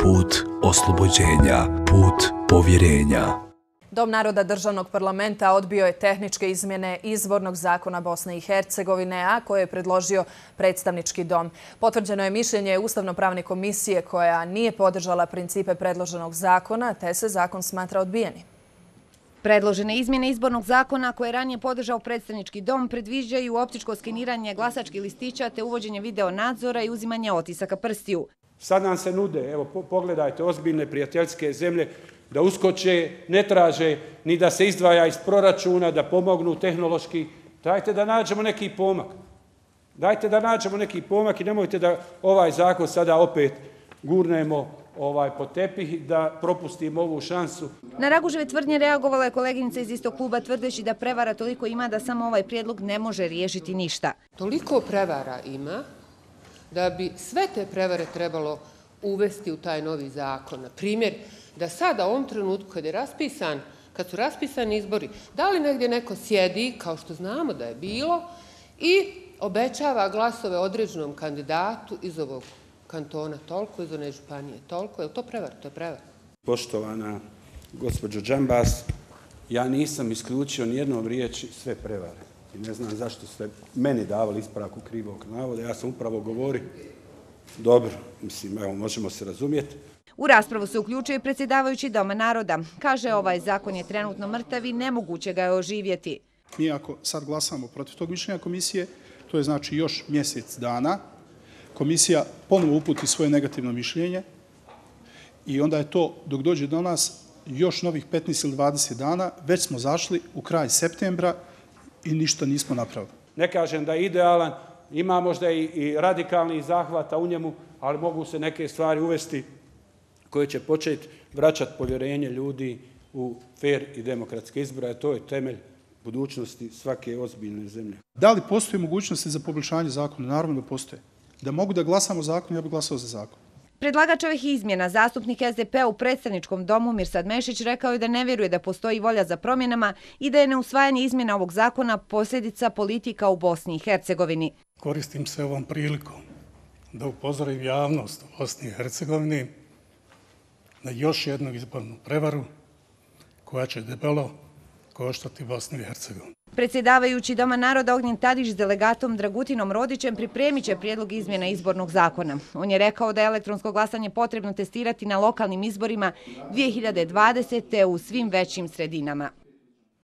put oslobođenja, put povjerenja. Dom naroda Državnog parlamenta odbio je tehničke izmjene izbornog zakona Bosne i Hercegovine, a koje je predložio predstavnički dom. Potvrđeno je mišljenje Ustavno-pravne komisije koja nije podržala principe predloženog zakona, te se zakon smatra odbijenim. Predložene izmjene izbornog zakona koje je ranije podržao predstavnički dom predviđaju optičko skeniranje glasačkih listića te uvođenje video nadzora i uzimanje otisaka prstiju. Sad nam se nude, evo pogledajte, ozbiljne prijateljske zemlje da uskoče, ne traže ni da se izdvaja iz proračuna, da pomognu tehnološki. Dajte da nađemo neki pomak. Dajte da nađemo neki pomak i nemojte da ovaj zakon sada opet gurnemo pod tepih, da propustimo ovu šansu. Na Raguževe tvrdnje reagovala je koleginica iz istog kluba tvrdeći da prevara toliko ima da samo ovaj prijedlog ne može riješiti ništa. Toliko prevara ima da bi sve te prevare trebalo uvesti u taj novi zakon. Na primjer, da sada u ovom trenutku kad su raspisani izbori, da li negdje neko sjedi, kao što znamo da je bilo, i obećava glasove određenom kandidatu iz ovog kantona toliko, iz one županije toliko. Je li to prevara? To je prevara. Poštovana gospođo Džambas, ja nisam isključio nijednom riječi sve prevare. I ne znam zašto ste meni davali ispravku krivog navoda. Ja sam upravo govorio. Dobro, mislim, evo, možemo se razumjeti. U raspravu se uključuje predsjedavajući Doma naroda. Kaže, ovaj zakon je trenutno mrtav i nemoguće ga je oživjeti. Mi ako sad glasamo protiv tog mišljenja komisije, to je znači još mjesec dana. Komisija ponovo uputi svoje negativno mišljenje i onda je to, dok dođe do nas, još novih 15 ili 20 dana. Već smo zašli u kraj septembra i ništa nismo napravili. Ne kažem da je idealan, ima možda i radikalnih zahvata u njemu, ali mogu se neke stvari uvesti koje će početi vraćati povjerenje ljudi u fer i demokratske izbore, a to je temelj budućnosti svake ozbiljne zemlje. Da li postoje mogućnosti za poboljšanje zakona? Naravno da postoje. Da mogu da glasamo zakon, ja bih glasao za zakon. Predlagač ovih izmjena, zastupnik SDP-a u predstavničkom domu Mirsad Mešić, rekao je da ne vjeruje da postoji volja za promjenama i da je neusvajanje izmjena ovog zakona posljedica politika u Bosni i Hercegovini. Koristim se ovom prilikom da upozorim javnost u Bosni i Hercegovini na još jednu izbornu prevaru koja će debelo koštati Bosnu i Hercegovinu. Predsjedavajući Doma naroda Ognjen Tadić s delegatom Dragutinom Rodićem pripremit će prijedlog izmjena izbornog zakona. On je rekao da je elektronsko glasanje potrebno testirati na lokalnim izborima 2020. u svim većim sredinama.